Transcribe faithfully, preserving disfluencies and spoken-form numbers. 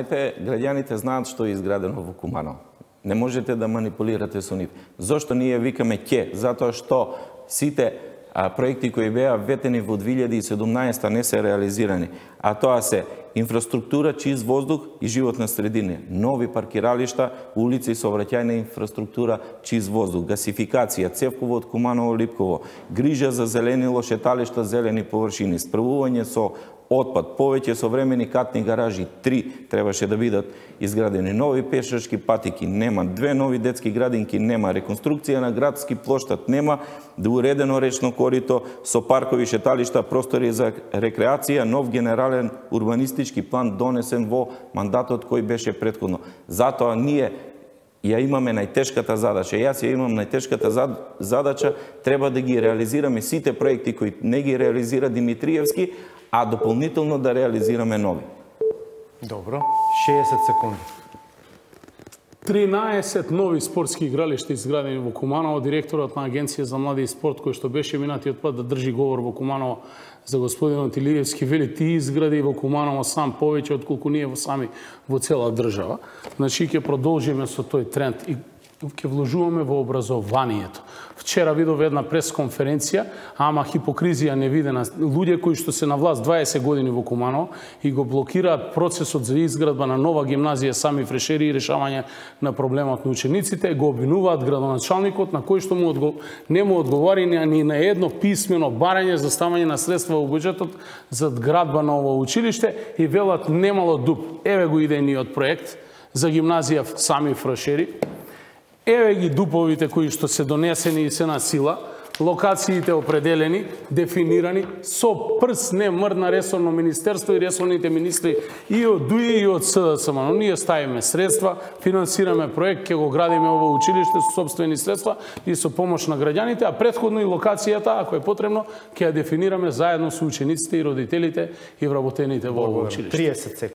Граѓаните знаат што е изградено во Куманово. Не можете да манипулирате со нив. Зошто ние викаме ќе? Затоа што сите а, проекти кои беа ветени во две илјади и седумнаесета не се реализирани, а тоа се инфраструктура, чист воздух и животна средина, нови паркиралишта, улици, сообраќајна инфраструктура, чист воздух, гасификација, цевковод Куманово-Липково, грижа за зеленило, шеталишта, зелени површини, справување со отпад, повеќе современи катни гаражи, три требаше да бидат изградени, нови пешачки патики, нема, две нови детски градинки, нема, реконструкција на градски плоштад, нема, да уредено речно корито со паркови, шеталишта, простори за рекреација, нов генерален урбанистички план донесен во мандатот кој беше претходно. Затоа ние ја имаме најтешката задача. Јас ја имам најтешката задача, треба да ги реализираме сите проекти кои не ги реализира Димитриевски, а дополнително да реализираме нови. Добро, шеесет секунди. тринаесет нови спортски игралишта изградени во Куманово. Директорот на Агенција за млади и спорт, кој што беше минатиот пат да држи говор во Куманово за господинот Илиевски, вели ти изгради во Куманово сам повеќе отколку ние во сами во цела држава. Значи ќе продолжиме со тој тренд и ќе вложуваме во образованието. Вчера видов една пресконференција, ама хипокризија невидена. Луѓе кои што се на власт дваесет години во Куманово и го блокираат процесот за изградба на нова гимназија Сами Фрешери и решавање на проблемот на учениците, го обвинуваат градоначалникот на кој што му одго... не му одговори ни на едно писмено барање за ставање на средства во буџетот за градба на ово училиште и велат немало дуп. Еве го идејниот проект за гимназија Сами Фрешери. Еве ги дуповите кои што се донесени и се на сила, локациите определени, дефинирани, со прс не мрдна ресорно министерство и ресорните министри и од ДУИ и од СДСМ. Но ние ставиме средства, финансираме проект, ќе го градиме ово училиште со собствени средства и со помош на граѓаните, а претходно и локацијата, ако е потребно, ќе ја дефинираме заедно со учениците и родителите и вработените во ово училиште. триесет секунди.